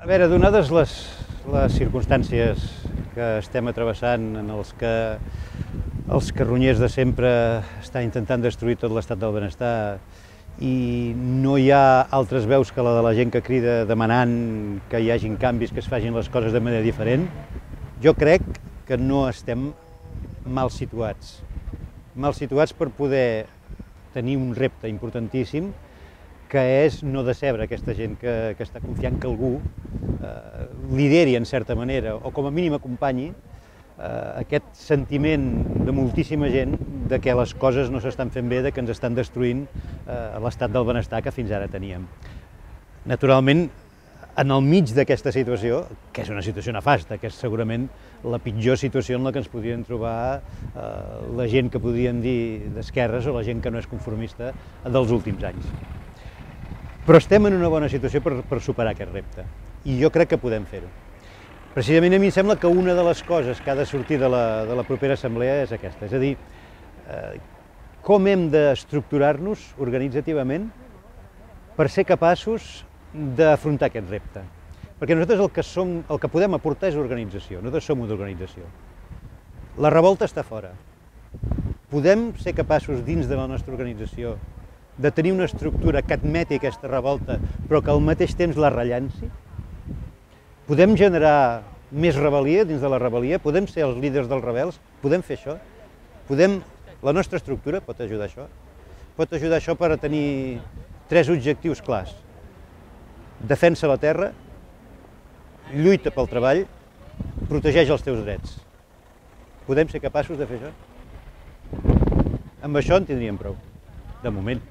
A veure, donades les circumstàncies que estem travessant, en els carronyers de sempre estan intentant destruir tot l'estat del benestar i no hi ha altres veus que la de la gent que crida demanant que hi hagin canvis, que es facin les coses de manera diferent, jo crec que no estem mal situats. Mal situats per poder tenir un repte importantíssim, que és no decebre aquesta gent que està confiant que algú lideri en certa manera, o com a mínim acompanyi aquest sentiment de moltíssima gent de que les coses no s'estan fent bé, de que ens estan destruint l'estat del benestar que fins ara teníem. Naturalment, en el mig d'aquesta situació, que és una situació nefasta, que és segurament la pitjor situació en la que ens podrien trobar la gent que podríem dir d'esquerres o la gent que no és conformista dels últims anys. Però estem en una bona situació per superar aquest repte, i jo crec que podem fer-ho. Precisament a mi em sembla que una de les coses que ha de sortir de la propera assemblea és aquesta, és a dir, com hem d'estructurar-nos organitzativament per ser capaços d'afrontar aquest repte. Perquè nosaltres el que podem aportar és organització, nosaltres som una organització. La revolta està fora. Podem ser capaços dins de la nostra organització de tenir una estructura que admeti aquesta revolta, però que al mateix temps la rellanci? Podem generar més rebel·lia dins de la rebel·lia? Podem ser els líders dels rebels? Podem fer això? La nostra estructura pot ajudar a això? Pot ajudar a això per a tenir 3 objectius clars. Defensa la terra, lluita pel treball, protegeix els teus drets. Podem ser capaços de fer això? Amb això en tindríem prou, de moment.